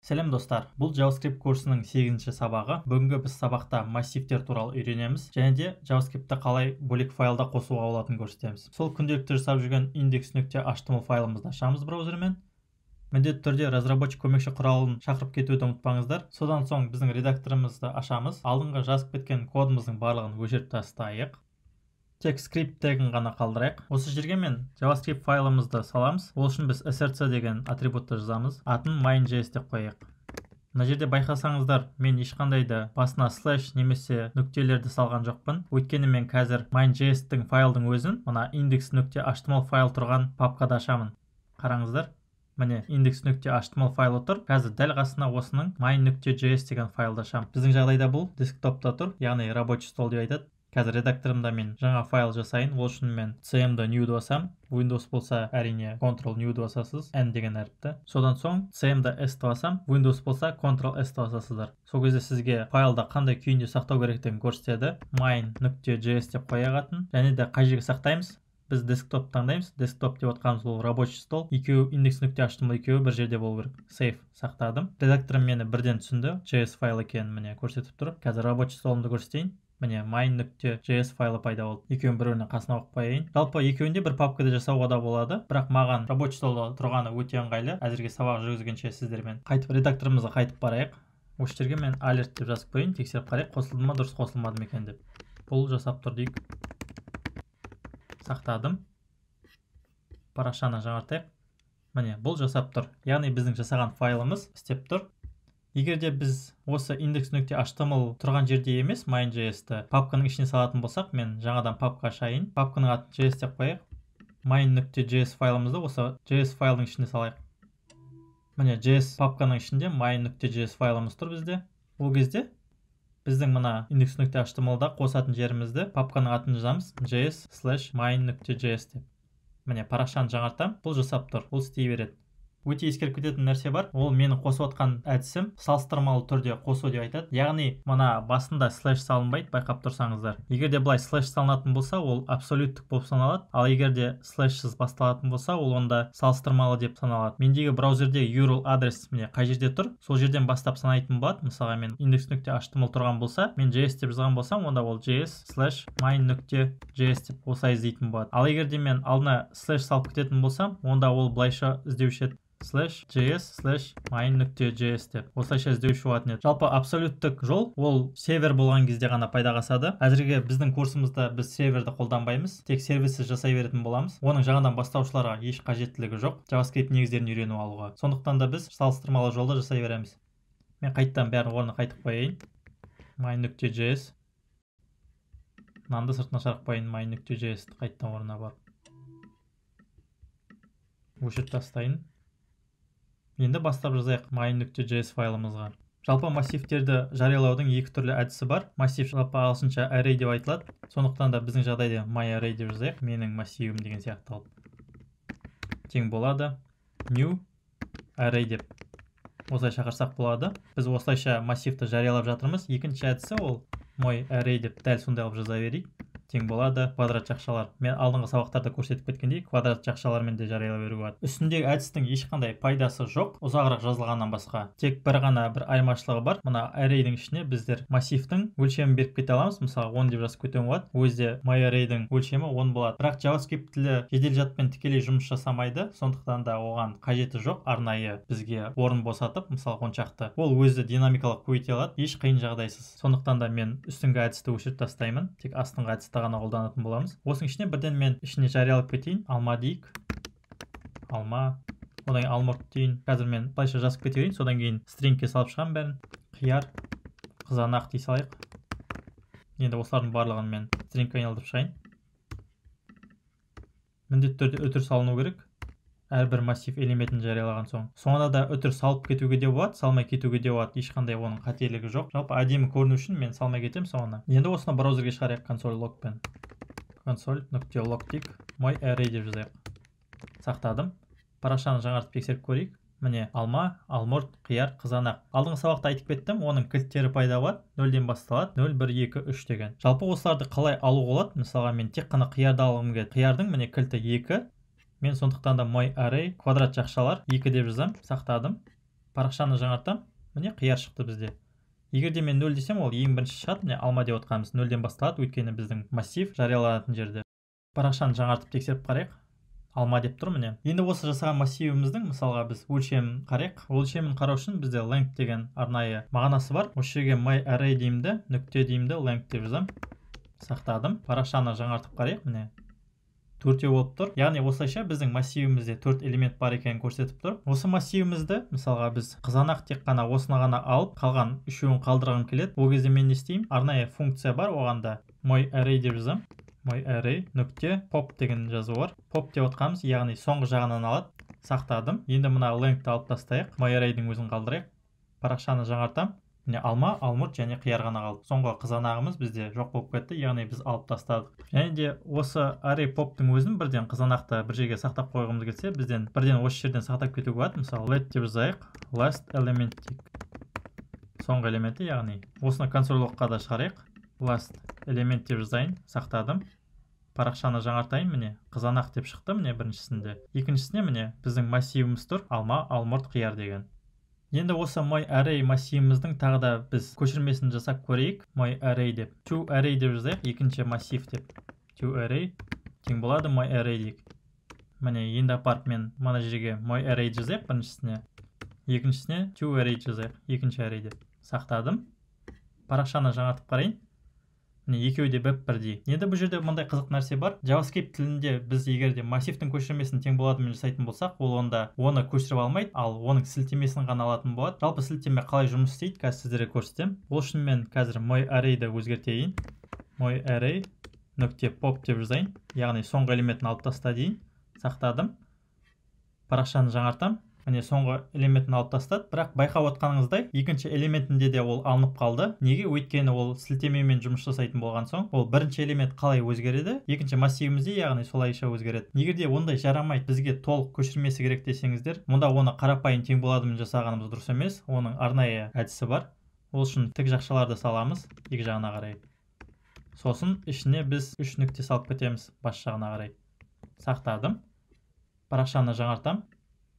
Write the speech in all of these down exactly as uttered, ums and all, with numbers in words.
Сәлем достар, бұл JavaScript курсының сегізінші сабағы. Бүгінгі біз сабақта массивтер туралы үйренеміз, және де JavaScriptті қалай бөлек файлда қосуға болатынын көрсетеміз. Сол күнделікті жасап жүрген index.html файлымызды ашамыз браузермен. Міндетті түрде разработчик көмекші құралын шақырып кетуді ұмытпаңыздар. Содан соң біздің редакторымызды ашамыз. Алдыңғы жазып кеткен кодымыздың барлығын өшіріп тастайық. Тек скрипт тегін ғана қалдырайық. Осы жерге мен JavaScript файлымызды саламыз. Ол үшін біз src деген атрибутты жазамыз. Атын main.js деп қояйық. Мына жерде байқасаңыздар, мен ешқандай да басына слэш немесе нүктелерді салған жоқпын. Өйткені мен қазір main.js-тің файлдың өзін мына index.html файл тұрған папкада ашамын. Қараңыздар. Міне index.html файлы тұр. Қазір дәл қасына осының main.js деген файлды ашамын. Біздің жағдайда бұл десктопта тұр, яғни рабочий стол деп айтады. Қазір редакторымда мен жаңа файл жасайын. Ол үшін мен cm'ді new-ді басам. Windows болса әрине Ctrl new-ді басасыз, n деген әріпті. Содан соң cm'ді s-ді басам. Windows болса Ctrl s-ді басасыздар. Сол кезде сізге файлда қандай күйінде сақтау керектігін көрсетеді. main.js деп қояғатын. Және де қай жерге сақтаймыз? Біз десктоп таңдаймыз. Десктоп деп отқанымыз ол рабочий стол. Екеуі index.html екеуі бір жерде болу керек. Save сақтадым. Редакторым мені бірден түсінді. js файл екенін міне көрсетіп тұр. Қазір рабочий столымды көрсетейін. Міне main.js файлы пайда болды. Екеуін бір-біріне қасына қойып қояйын. Жалпы екеуінде бір папкада жасауға да болады. Бірақ маған рабочий столда тұрғаны өте ыңғайлы. Әзірге сабақ жүргізгенше сіздермен қайтып редакторымызға қайтып барайық. Осы жерге мен alert деп жазып қояйын, тексеріп қарайық, қосылды ма, дұрыс қосылмады ма екен деп. Бұл жасап тұр дейік. Сақтадым. Парақшаны жаңартайық. Міне бұл жасап тұр. Яғни біздің жасаған файлымыз істеп тұр. Егер де біз осы index.html тұрған жерде емес main.js-ті папканың ішіне салатын болсақ, мен жаңадан папка ашайын. Папканың атын js деп қояйық. main.js файлымызды осы js файлдың ішіне салайық. Міне js папканың ішінде main.js файлымыз тұр бізде. Ол кезде біздің мына index.html-да қосатын жерімізді папканың атын жазамыз js slash main.js деп. Міне парақшаны жаңартам. Бұл жасап тұр. Бұл істей береді. Өте ескеріп кететін нәрсе бар. Ол менің қосып отқан әдісім салыстырмалы түрде қосу деп айтады. Яғни мына басында слэш салынбайды, байқап тұрсаңыздар. Егер де былай слэш салынатын болса, ол абсолюттік болып саналады. Ал егер де слэшсіз басталатын болса, ол онда салыстырмалы деп саналады. Мендегі браузерде ю ар эл адрес міне қай жерде тұр, сол жерден бастап санайтын болады. Мысалға мен index.html тұрған болса, мен js деп жазған болсам, онда ол js slash main.js деп осылай іздейтін болады. Ал егер де мен алдына слэш салып кететін болсам, онда ол былайша іздеуші еді. slash js slash main.js деп осылайша іздеуші болатын еді. Жалпы абсолюттік жол ол сервер болған кезде ғана пайдаға асады. Әзірге біздің курсымызда біз серверді қолданбаймыз, тек сервисіз жасай беретін боламыз. Оның жаңадан бастаушыларға еш қажеттілігі жоқ JavaScript негіздерін үйреніп алуға. Сондықтан да біз салыстырмалы жолда жасай береміз. Мен қайттан бәрін орнына қайтып қояйын. main.js мынаны сыртына шығарып қояйын. main.js қайттан орнына барып өшіріп тастайын. Енді бастап жазайық main.js файлымызға. Жалпы массивтерді жариялаудың екі түрлі әдісі бар. Массив жалпы ағылшынша array деп айтылады. Сондықтан да біздің жағдайда myArray деп жазайық. Менің массивім деген сияқты алып. Тең болады. New array деп осылай шақырсақ болады. Біз осылайша массивті жариялап жатырмыз. Екінші әдісі ол мой array деп дәл сондай алып жаза берейік. Тең болады квадрат жақшалар. Мен алдыңғы сабақтарда көрсетіп кеткендей, квадрат жақшалармен де жариялай беруге болады. Үстіндегі әдістің ешқандай пайдасы жоқ, ұзағырақ жазылғаннан басқа. Тек бір ғана бір айырмашылығы бар. Мына array-дің ішіне біздер массивтің өлшемін беріп кете аламыз. Мысалы он деп жазып кетуге болады. Өзде myArray-дің өлшемі он болады. Бірақ JavaScript тілі жедел жадпен тікелей жұмыс жасамайды. Сондықтан да оған қажеті жоқ. Арнайы бізге орын босатып, мысалы он шақты. Ол өзі динамикалық көбейте алады, еш қиын жағдайсыз. Сондықтан да мен үстіңгі әдісті өшіріп тастаймын. Тек астыңғы әдісті ғана қолданатын боламыз. Осының ішіне бірден мен ішіне жариялап кетейін. Алма дейік. Алма. Одан кейін алмұрт дейін. Қазір мен былайша жазып кетейін. Содан кейін стрингке салып шығам бәрін. Қияр, қызанақ дей салайық. Енді осылардың барлығын мен стрингке айналдырып шығайын. Міндетті түрде үтір салыну керек. Әрбір массив элементін жариялаған соң. Соңында да үтір салып кетуге де болады, салмай кетуге де болады. Ешқандай оның қателігі жоқ. Жалпы әдемі көріну үшін мен салмай кетем соңына. Енді осыны браузерге шығарайық console logпен. console.log дейік. myArray деп жазайық. Сақтадым. Парақшаны жаңартып тексеріп көрейік. Міне алма, алмұрт, қияр, қызанақ. Алдыңғы сабақта айтып кеттім, оның кілттері пайда болады. нөлден басталады. нөл, бір, екі, үш деген. Жалпы осыларды қалай алуға болады? Мысалға мен тек қана қиярды алғым келеді. Қиярдың міне кілті екі. Мен сондықтан да myArray квадрат жақшалар екі деп жазам. Сақтадым. парақшаны жаңартам, міне қияр шықты бізде. Егер де мен нөл десем, ол ең бірінші шығады, міне алма деп отқанымыз нөлден басталады, өйткені біздің массив жарияланатын жерде. Парақшаны жаңартып тексеріп қарайық. Алма деп тұр міне. Енді осы жасаған массивіміздің, мысалға біз өлшемін қарайық. Өлшемін қарау үшін бізде length деген арнайы мағынасы бар. Осы жерге myArray деймді, нүкте деймді, length деп жазам. Сақтадым. Парақшаны жаңартып қарайық міне. Төртеу болып тұр. Яғни осылайша біздің массивімізде төрт элемент бар екенін көрсетіп тұр. Осы массивімізді, мысалға біз қызанақ тек қана осыны ғана алып, қалған үшеуін қалдырғым келеді. Ол кезде мен не істеймін? Арнайы функция бар, оғанда myArray деп жазам. myArray нүкте pop деген жазу бар. Pop деп отқанымыз, яғни соңғы жағынан алады. Сақтадым. Енді мына length алып тастайық. myArray-дің өзін қалдырайық. Парақшаны жаңартам. Міне алма, алмұрт және қияр ғана қалды. Соңғы қызанағымыз бізде жоқ болып кетті, яғни біз алып тастадық. Және де осы array pop-тың өзін бірден қызанақты бір жерге сақтап қойғымыз келсе, бізден бірден осы жерден сақтап кетуге болады. Мысалы, let деп жазайық, last element дейік. Соңғы элементі, яғни осыны консоль логқа да шығарайық. Last element деп жазайын, сақтадым. Парақшаны жаңартайын, міне қызанақ деп шықты міне біріншісінде. Екіншісіне міне біздің массивіміз тұр, алма, алмұрт, қияр деген. Енді осы myArray массивіміздің тағы да біз көшірмесін жасап көрейік. myArray деп. toArray деп жазайық, екінші массив деп. toArray тең болады myArray дейік. Міне енді апарып мен мына жерге myArray жазайық біріншісіне. Екіншісіне toArray жазайық, екінші array деп. Сақтадым. Парақшаны жаңартып қарайын. Міне екеуі де бір-бірдей. Енді бұл жерде мындай қызық нәрсе бар. JavaScript тілінде біз егер де массивтің көшірмесін тең боладымен жасайтын болсақ, ол онда оны көшіріп алмайды, ал оның сілтемесін ғана алатын болады. Жалпы сілтеме қалай жұмыс істейді, қазір сіздерге көрсетемін. Ол үшін мен қазір myArray-ді өзгертейін. myArray нүкте pop деп жазайын. Яғни соңғы элементін алып таста дейін. Сақтадым. Парақшаны жаңартам. Міне соңғы элементін алып тастады, бірақ байқап отқаныңыздай, екінші элементінде де ол алынып қалды. Неге? Өйткені ол сілтемемен жұмыс жасайтын болған соң, ол бірінші элемент қалай өзгереді, екінші массивімізде, яғни солайша өзгереді. Егер де ондай жарамайды, бізге толық көшірмесі керек десеңіздер, мұнда оны қарапайым тең боладымен жасағанымыз дұрыс емес. Оның арнайы әдісі бар. Ол үшін тік жақшаларды саламыз, екі жағына қарай. Сосын ішіне біз үш нүкте салып кетеміз бас жағына қарай. Сақтадым. Парақшаны жаңартам.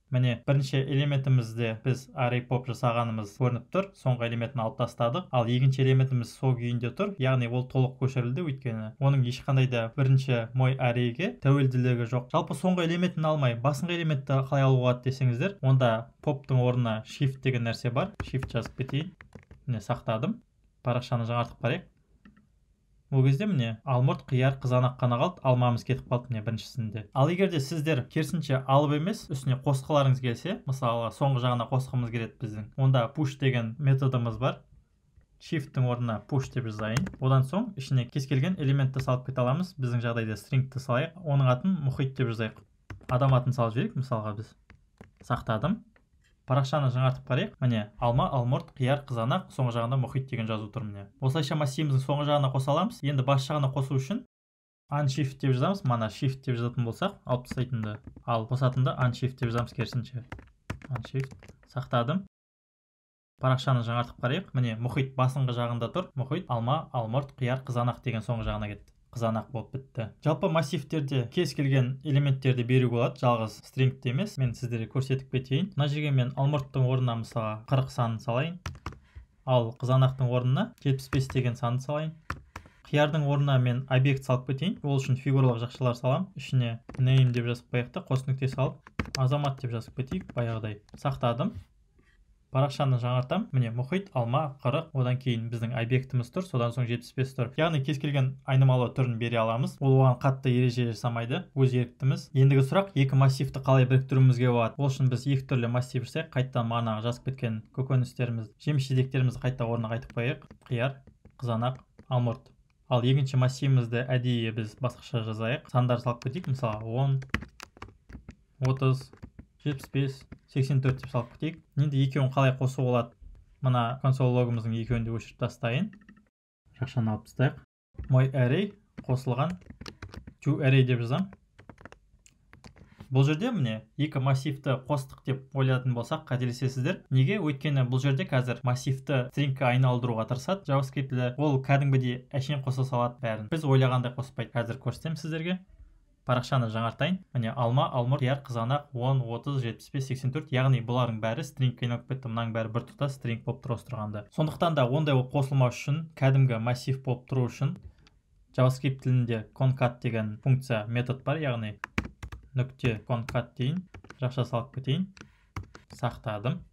Міне бірінші элементімізде біз array pop жасағанымыз көрініп тұр. Соңғы элементін алып тастадық. Ал екінші элементіміз сол күйінде тұр. Яғни ол толық көшірілді, өйткені оның ешқандай да бірінші myArray-ге тәуелділігі жоқ. Жалпы соңғы элементін алмай, басыңғы элементті қалай алуға болады десеңіздер, онда pop-тың орнына shift деген нәрсе бар. Shift жазып кетейін. Міне сақтадым. Парақшаны жаңартып қарайық. Ол кезде міне алмұрт, қияр, қызанақ қана қалды, алмамыз кетіп қалды міне біріншісінде. Ал егер де сіздер керісінше алып емес, үстіне қосқыларыңыз келсе, мысалы соңғы жағына қосқымыз келеді біздің, онда push деген методымыз бар. Shift-тің орнына push деп жазайын. Одан соң ішіне кез келген элементті салып кете аламыз. Біздің жағдайда string-ті салайық. Оның атын мұхит деп жазайық. Адам атын салып жіберейік, мысалға біз. Сақтадым. Парақшаны жаңартып қарайық. Міне алма, алмұрт, қияр, қызанақ, соңғы жағында мұхит деген жазу тұр міне. Осылайша массивіміздің соңғы жағына қоса аламыз. Енді бас жағына қосу үшін unshift деп жазамыз. Мана shift деп жазатын болсақ, алып тастайтынды. Ал қосатынды unshift деп жазамыз керісінше. Unshift. Сақтадым. Парақшаны жаңартып қарайық. Міне мұхит басыңғы жағында тұр. Мұхит, алма, алмұрт, қияр, қызанақ деген соңғы жағына кетті. Қызанақ болып бітті. Жалпы массивтерде кез келген элементтерді беруге болады, жалғыз stringті емес. Мен сіздерге көрсетіп кетейін. Мына жерге мен алмұрттың орнына мысалға қырық санын салайын. Ал қызанақтың орнына жетпіс бес деген санды салайын. Қиярдың орнына мен объект салып кетейін. Ол үшін фигуралық жақшалар салам. Ішіне name деп жазып қояйық та, қос нүкте салып, азамат деп жазып кетейік, баяғыдай. Сақтадым. Парақшаны жаңартам. Міне мұхит, алма, қырық, одан кейін біздің объектіміз тұр, содан соң жетпіс бес тұр. Яғни кез келген айнымалы түрін бере аламыз. Ол оған қатты ереже жасамайды, өз еріктіміз. Ендігі сұрақ, екі массивті қалай біріктіруімізге болады. Ол үшін біз екі түрлі массив жасайық. Қайттан мағынаға жазып кеткен көкөністеріміз, жеміс-жидектерімізді қайта орнына қайтып қояйық. Қияр, қызанақ, алмұрт. Ал екінші массивімізді әдейі біз басқаша жазайық. Сандар салып кетейік, мысалы он, отыз, жетпіс бес, сексен төрт деп салып кетейік. Енді екеуін қалай қосу болады? Мына консоль логымыздың екеуін де өшіріп тастайын. Жақшаны алып тастайық. myArray қосылған toArray деп жазам. Бұл жерде міне екі массивті қостық деп ойлайтын болсақ, қателесесіздер. Неге? Өйткені бұл жерде қазір массивті stringке айналдыруға тырысады. JavaScript-те ол кәдімгідей әшейін қоса салады бәрін. Біз ойлағандай қоспайды. Қазір көрсетемін сіздерге. парақшаны жаңартайын. Міне алма, алмұрт, қияр, қызанақ, он, отыз, жетпіс бес, сексен төрт, яғни бұлардың бәрі стрингке айналып кетті. Мынаның бәрі бір тұтас стринг болып тұр осы тұрғанда. Сондықтан да ондай қосылмау үшін, кәдімгі массив болып тұру үшін JavaScript тілінде concat деген функция метод бар, яғни нүкте concat дейін, жақша салып кетейін, сақтадым.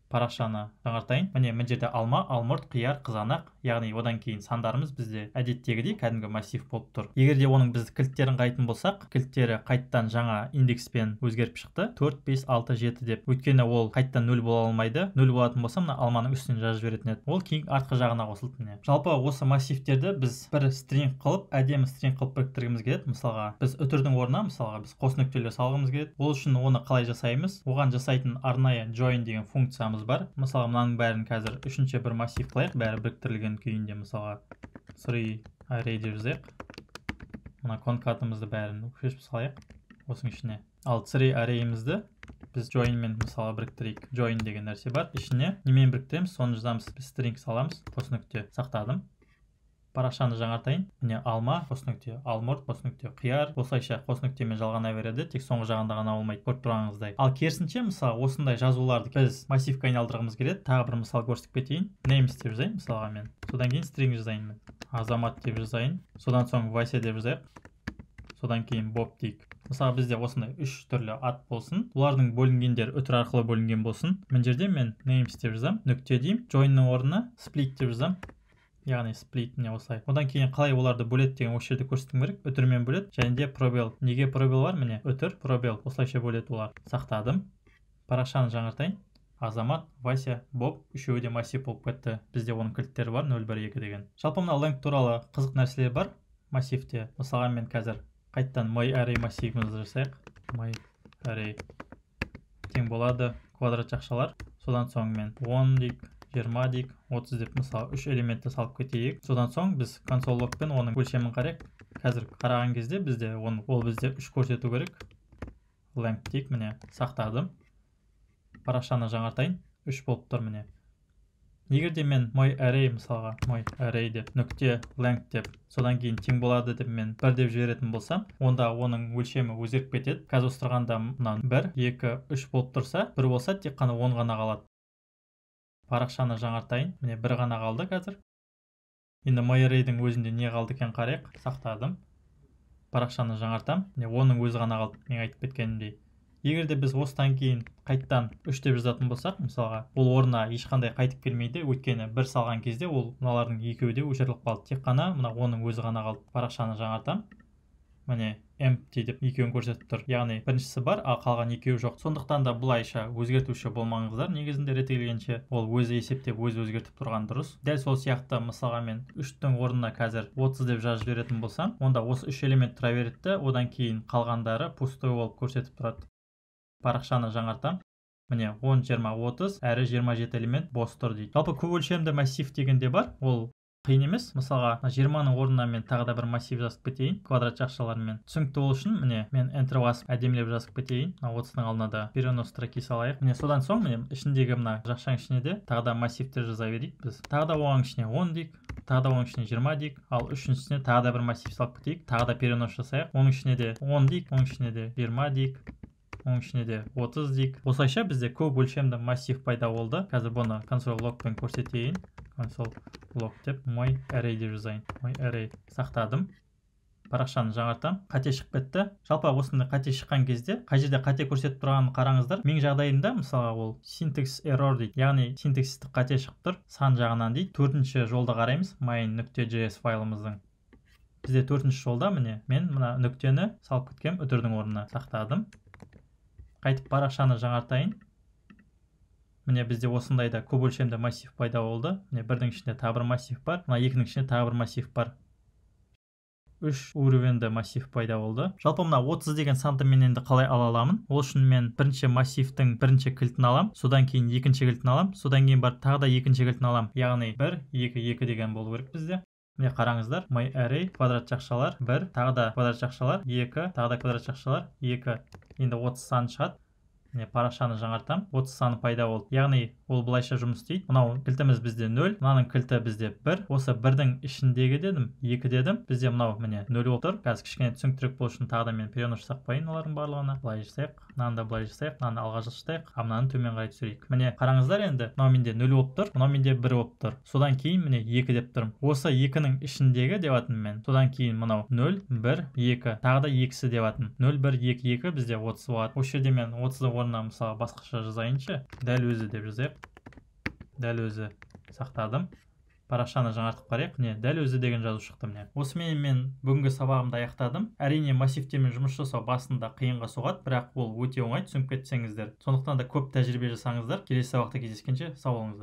Парақшаны жаңартайын. Міне мына жерде алма, алмұрт, қияр, қызанақ, яғни одан кейін сандарымыз бізде әдеттегідей кәдімгі массив болып тұр. Егер де оның біз кілттерін қайтын болсақ, кілттері қайттан жаңа индекспен өзгеріп шықты. төрт, бес, алты, жеті деп. Өйткені ол қайттан нөл бола алмайды. нөл болатын болса, мына алманың үстінен жазып жіберетін еді. Ол кейін артқы жағына қосылды міне. Жалпы осы массивтерді біз бір стринг қылып, әдемі стринг қылып біріктіргіміз келеді. Мысалға, біз үтірдің орнына, мысалға, біз қос нүктелер салғымыз келеді. Ол үшін оны қалай жасаймыз? Оған жасайтын арнайы join деген функциямыз бар. Мысалға, мынаның бәрін қазір үшінші бір массив қылайық, бәрі біріктірілген күйінде. Мысалға, three array деп жазайық. Мына конкатымызды бәрін шешіп салайық осының ішіне. Ал three array'імізді біз join мен мысалға біріктірейік. Join деген нәрсе бар. Ішіне немен біріктіреміз? Соны жазамыз. Біз string саламыз. Қос нүкте сақтадым. Парақшаны жаңартайын. Міне алма, қос нүкте, алмұрт, қос нүкте, қияр. Осылайша қос нүктемен жалғана береді, тек соңғы жағында ғана болмайды, көріп тұрғаныңыздай. Ал керісінше, мысалы, осындай жазуларды біз массивке айналдырғымыз келеді. Тағы бір мысал көрсетіп кетейін. Names деп жазайын, мысалға мен. Содан кейін string жазайын мен. Азамат деп жазайын. Содан соң Вася деп жазайық. Содан кейін Bob дейік. Мысалы, бізде осындай үш түрлі ат болсын. Олардың бөлінгендер үтір арқылы бөлінген болсын. Мына жерде мен names деп жазам, нүкте деймін. Join'ның орнына split деп жазам. Яғни split не осылай. Одан кейін қалай оларды бөледі деген осы жерде көрсетуім керек. Үтірмен бөледі. Және де пробел. Неге пробел бар? Міне үтір, пробел. Осылайша бөледі олар. Сақтадым. Парақшаны жаңартайын. Азамат, Вася, Боб үшеуі де массив болып кетті. Бізде оның кілттері бар нөл бір екі деген. Жалпы мына length туралы қызық нәрселер бар массивте. Мысалға мен қазір қайттан myArray массивімізді жасайық. myArray тең болады квадрат жақшалар. Содан соң мен он дейік, жиырма дейік, отыз деп мысалы үш элементті салып кетейік. Содан соң біз console logпен оның өлшемін қарайық. Қазір қараған кезде бізде оны ол бізде үш көрсету керек. Length дейік, міне сақтадым. Парақшаны жаңартайын. үш болып тұр міне. Егер де мен myArray мысалға myArray деп нүкте length деп содан кейін тең болады деп мен бір деп жіберетін болсам, онда оның өлшемі өзгеріп кетеді. Қазір осы тұрғанда мынау бір, екі, үш болып тұрса, бір болса тек қана он ғана қалады. Парақшаны жаңартайын. Міне бір ғана қалды қазір. Енді myArray'дің өзінде не қалды екен қарайық. Сақтадым. Парақшаны жаңартам. Міне оның өзі ғана қалды. Мен айтып кеткенімдей. Егер де біз осыдан кейін қайттан үш деп жазатын болсақ, мысалға, ол орнына ешқандай қайтып келмейді, өйткені бір салған кезде ол мыналардың екеуі де өшіріліп қалды. Тек қана мына оның өзі ғана қалды. Парақшаны жаңартам. Міне empty деп екеуін көрсетіп тұр. Яғни біріншісі бар, ал қалған екеуі жоқ. Сондықтан да бұлайша өзгертуші болмаңыздар. Негізінде реттелгенше ол өзі есептеп, өзі өзгертіп тұрған дұрыс. Дәл сол сияқты мысалға мен үштің орнына қазір отыз деп жазып жіберетін болсам, онда осы үш элемент тұра береді, одан кейін қалғандары пустой болып көрсетіп тұрады. Парақшаны жаңартам. Міне он, жиырма, отыз, әрі жиырма жеті элемент бос тұр дейді. Жалпы көп өлшемді массив дегенде бар. Ол қиын емес. Мысалға жиырманың орнына мен тағы да бір массив жазып кетейін. Квадрат жақшаларымен. Түсінікті ол үшін міне мен enter басып әдемілеп жазып кетейін. отыздың алдына да перенос строки салайық. Міне содан соң міне ішіндегі мына жақшаның ішіне де тағы да массивтер жаза берейік біз. Тағы да оның ішіне он дейік. Тағы да оның ішіне жиырма дейік. Ал үшіншісіне тағы да бір массив салып кетейік. Тағы да перенос жасайық. Оның ішіне де он дейік. Оның ішіне де жиырма дейік. Оның ішіне де отыз дейік. Осылайша бізде көп өлшемді массив пайда болды. Қазір бұны console logпен көрсетейін. Console log деп myArray деп жазайын. myArray сақтадым. Парақшаны жаңартам. Қате шығып кетті. Жалпы осындай қате шыққан кезде қай жерде қате көрсетіп тұрғанын қараңыздар. Мен жағдайында мысалға ол syntax error дейді. Яғни синтаксистік қате шығып тұр. Сан жағынан дейді. Төртінші жолда қараймыз. main.js файлымыздың. Бізде төртінші жолда міне мен мына нүктені салып кеткем үтірдің орнына. Сақтадым. Қайтып парақшаны жаңартайын. Міне бізде осындайда көп өлшемді массив пайда болды. Міне бірдің ішінде тағы бір массив бар. Мына екінің ішінде тағы бір массив бар. үш уровенді массив пайда болды. Жалпы мына отыз деген санды мен енді қалай ала аламын? Ол үшін мен бірінші массивтің бірінші кілтін алам, содан кейін екінші кілтін алам, содан кейін барып тағы да екінші кілтін алам. Яғни бір, екі, екі деген болу керек бізде. Міне қараңыздар, myArray квадрат жақшалар бір, тағы да квадрат жақшалар екі, тағы да квадрат жақшалар екі. Енді отыз сан шығады. міне парақшаны жаңартамын, отыз саны пайда болды. Яғни ол былайша жұмыс істейді. Мынау кілтіміз бізде нөл, мынаның кілті бізде бір. Осы бірдің ішіндегі дедім, екі дедім. Бізде мынау міне нөл болып тұр. Қазір кішкене түсініктірек болу үшін тағы да мен перенос жасап қояйын олардың барлығына. Былай жасайық, мынаны да былай жасайық, мынаны алға жылжытайық, а мынаны төмен қарай түсірейік. Міне қараңыздар, енді мынау менде нөл болып тұр, мынау менде бір болып тұр. Содан кейін міне екі деп тұрмын. Осы екінің ішіндегі деп атым мен. Содан кейін мынау нөл, бір, екі, тағы да екісі деп атым. нөл, бір, екі, екі бізде отыз болады. Осы жерде мен отыздың орнына мысалы басқаша жазайыншы. Дәл өзі деп жазайық. Дәл өзі сақтадым. Парақшаны жаңартып қарайық. Міне дәл өзі деген жазу шықты міне. Осымен мен бүгінгі сабағымды аяқтадым. Әрине массивтермен жұмыс жасау басында қиынға соғады, бірақ ол өте оңай, түсініп кетсеңіздер. Сондықтан да көп тәжірибе жасаңыздар. Келесі сабақта кездескенше сау болыңыздар.